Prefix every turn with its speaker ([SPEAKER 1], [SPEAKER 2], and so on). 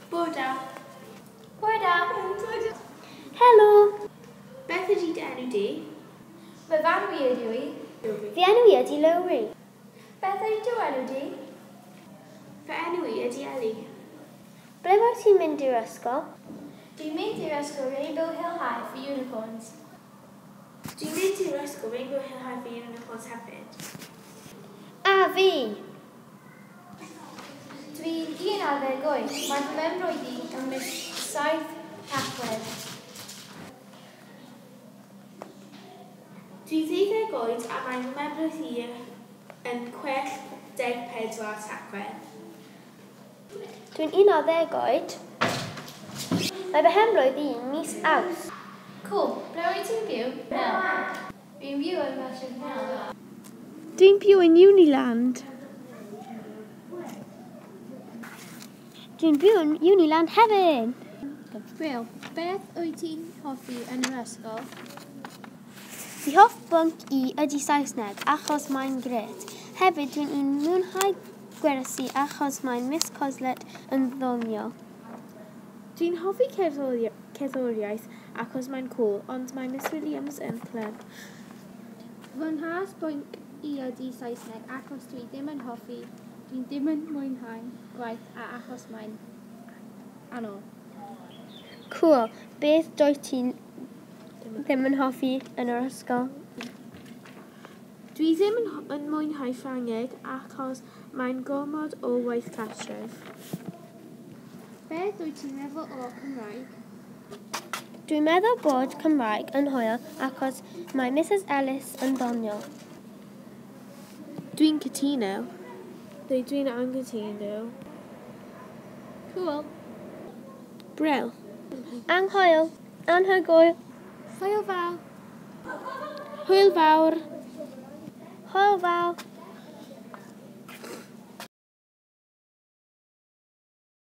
[SPEAKER 1] Bore da.
[SPEAKER 2] Bore da.
[SPEAKER 3] Helo.
[SPEAKER 1] Beth ydy dy enw di?
[SPEAKER 2] Fy enw i ydw i.
[SPEAKER 3] Fy enw i ydy Lowri.
[SPEAKER 2] Beth ydy dy enw di?
[SPEAKER 1] Fy enw i ydy Eli.
[SPEAKER 3] Ble wyt ti'n mynd i'r ysgol?
[SPEAKER 2] Dwi'n mynd i'r ysgol Rainbow Hill High for Unicorns.
[SPEAKER 1] Dwi'n mynd i'r ysgol Rainbow Hill High for Unicorns hefyd.
[SPEAKER 3] A fi!
[SPEAKER 2] Dwi'n 11 oed. Mae fy mhenblwydd i ym mis 7 Tachwedd.
[SPEAKER 1] Dwi'n 12 oed a mae fy mhenblwydd i yn 64 Tachwedd.
[SPEAKER 3] Dwi'n 11 oed. Mae fy mhenblwydd i mis Awst.
[SPEAKER 2] Cool. Ble wyt ti'n byw? Dwi'n byw yn Merthyr Mawr.
[SPEAKER 1] Dwi'n byw yn Uniland.
[SPEAKER 3] Dwi'n byw yn Uniland hefyd.
[SPEAKER 2] Wel, beth wyt ti'n hoffi yn yr ysgol?
[SPEAKER 3] Fy hoff bwnc i ydy Saesneg achos mae'n grêt. Hefyd dwi'n mwynhau gwersi achos mae Miss Coslet yn ddoniol.
[SPEAKER 1] Dwi'n hoffi cerddoriaeth achos mae'n cool, ond mae Miss Williams yn clem.
[SPEAKER 2] Fy nghas bwnc i ydy Saesneg achos dwi ddim yn hoffi, dwi ddim yn mwynhau gwaith a achos mae'n anodd.
[SPEAKER 3] Cool. Beth dwyt ti'n ddim yn hoffi yn yr ysgol?
[SPEAKER 1] Dwi ddim yn mwynhau Ffrangeg achos mae'n gormod o waith cartref.
[SPEAKER 2] Beth wyt ti'n meddwl o Cymraeg?
[SPEAKER 3] Dwi'n meddwl bod Cymraeg yn hwyl achos mae Mrs Ellis yn ddoniol.
[SPEAKER 1] Dwi'n cytuno. Neu dwi'n anghytuno.
[SPEAKER 2] Cool.
[SPEAKER 1] Bril.
[SPEAKER 3] Anghoel. Anhygoel.
[SPEAKER 2] Hwyl fawr.
[SPEAKER 1] Hwyl fawr.
[SPEAKER 3] Hwyl fawr.